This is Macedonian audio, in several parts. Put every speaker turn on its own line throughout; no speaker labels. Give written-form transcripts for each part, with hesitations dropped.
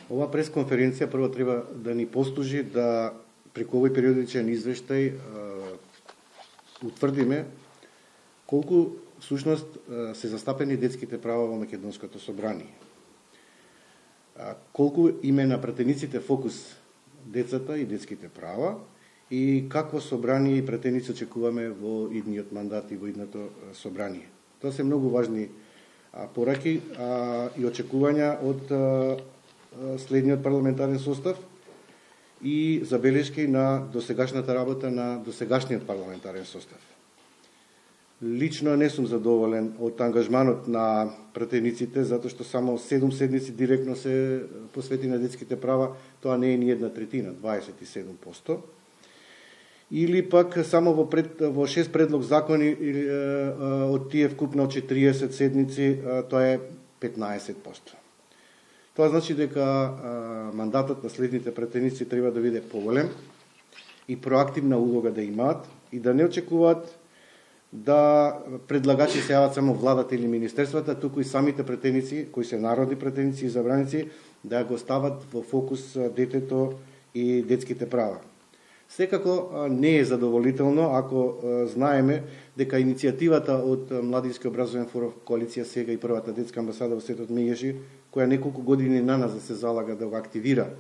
Ова пресконференција прво треба да ни послужи да преку овој периодичен извештај утврдиме колку всушност се застапени детските права во Македонското собрание. Колку име на пратениците фокус децата и детските права и какво собрание и пратеници очекуваме во идниот мандат и во идното собрание. Тоа се многу важни пораки и очекувања од следниот парламентарен состав и забелешки на досегашната работа на досегашниот парламентарен состав. Лично не сум задоволен од ангажманот на пратениците, затоа што само 7 седмици директно се посвети на детските права, тоа не е ни 1/3, 27%. Или пак само во 6 предлог закони од тие вкупно 40 седмици, тоа е 15%. Тоа значи дека мандатот на следните пратеници треба да биде поголем и проактивна улога да имаат и да не очекуваат да предлагачи се јават само владата или министерствата, туку и самите пратеници, кои се народни пратеници и забраници, да го стават во фокус детето и детските права. Секако не е задоволително ако знаеме дека иницијативата од Младински образовен форум коалиција сега и првата детска амбасада во светот Меѓеши, која неколку години на нас да се залага да го активира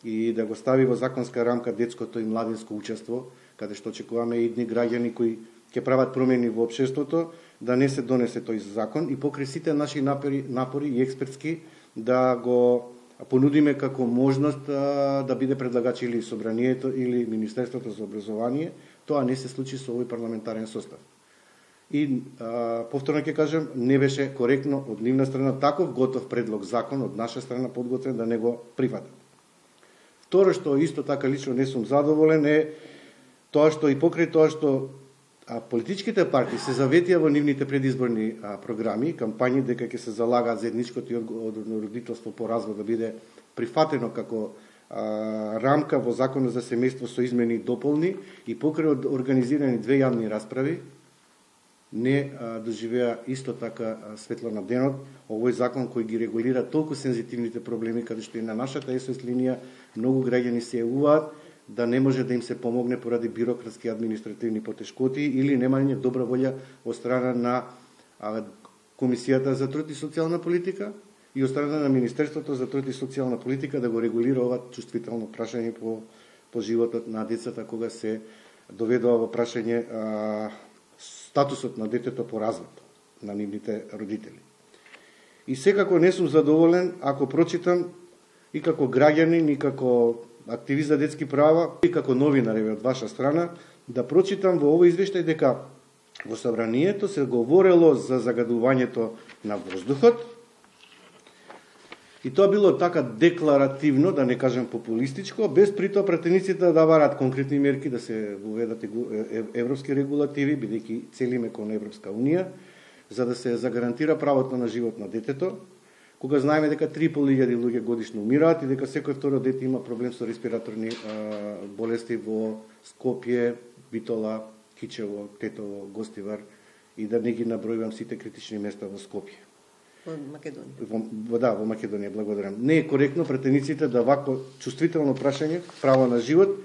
и да го стави во законска рамка детското и младинско учество, каде што очекуваме и едни граѓани кои ќе прават промени во општеството, да не се донесе тој закон и покрај сите наши напори и експертски да го понудиме како можност да биде предлагач или собранието или Министерството за образование, тоа не се случи со овој парламентарен состав. И повторно ќе кажам, не беше коректно од нивна страна таков готов предлог закон од наша страна подготвен да не го прифатат. Второ што исто така лично не сум задоволен е тоа што и покрај тоа што политичките партии се заветија во нивните предизборни програми, кампањи дека ќе се залагаат заедничкото и одговорно родителство по развод да биде прифатено како рамка во Законот за семејство со измени и дополни и покрај организирани 2 јавни расправи, не доживеа исто така светло на денот овој закон кој ги регулира толку сензитивните проблеми, каде што и на нашата СОС линија многу граѓани се јавуваат да не може да им се помогне поради бирократски административни потешкоти или немање добра волја од страна на Комисијата за труд и социјална политика и од страна на Министерството за труд и социјална политика да го регулира ова чувствително прашање по животот на децата кога се доведува во прашање статусот на детето по развод на нивните родители. И секако не сум задоволен ако прочитам и како граѓанин и како активист за детски права и како новинар од ваша страна да прочитам во овој извештај дека во собранието се говорело за загадувањето на воздухот и тоа било така декларативно, да не кажем популистичко, без притоа пратениците да даваат конкретни мерки да се воведат европски регулативи, бидејќи целиме кон Европска унија, за да се загарантира правото на живот на детето, кога знаеме дека 3.500 луѓе годишно умираат и дека секој второ дете има проблем со респираторни болести во Скопје, Битола, Кичево, Тетово, Гостивар и да не ги набројувам сите критични места во Скопје.
Во Македонија.
Во Македонија, благодарам. Не е коректно пратениците да вакво чувствително прашање, право на живот,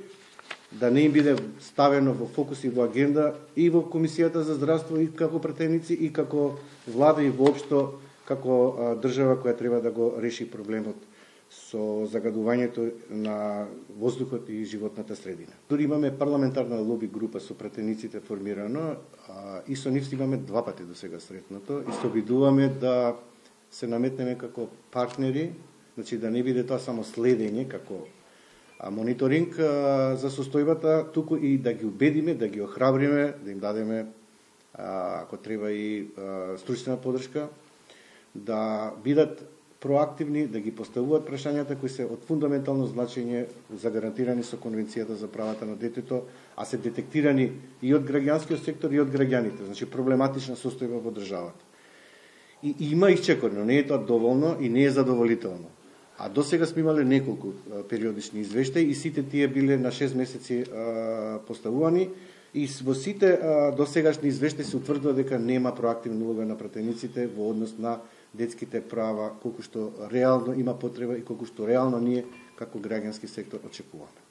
да не им биде ставено во фокус и во агенда и во Комисијата за здравство и како пратеници и како влада и воопшто како држава која треба да го реши проблемот со загадувањето на воздухот и животната средина. Дури имаме парламентарна лоби група со пратениците формирано и со нив имаме 2 пати до сега сретнато и се обидуваме да се наметнеме како партнери, значи да не биде тоа само следење како мониторинг за состојбата, туку и да ги убедиме, да ги охрабриме, да им дадеме ако треба и стручна подршка, да бидат проактивни, да ги поставуваат прашањата кои се од фундаментално значење за гарантирани со Конвенцијата за правата на детето, а се детектирани и од граѓанскиот сектор и од граѓаните, значи проблематична состојба во државата. И има исчекорно, не е тоа доволно и не е задоволително. А до сега сме имале неколку периодични извештаи и сите тие биле на 6 месеци поставувани и во сите досегашни извештаи се утврдува дека нема проактивна улога на пратениците во однос на детските права, колку што реално има потреба и колку што реално ние како граѓански сектор очекуваме.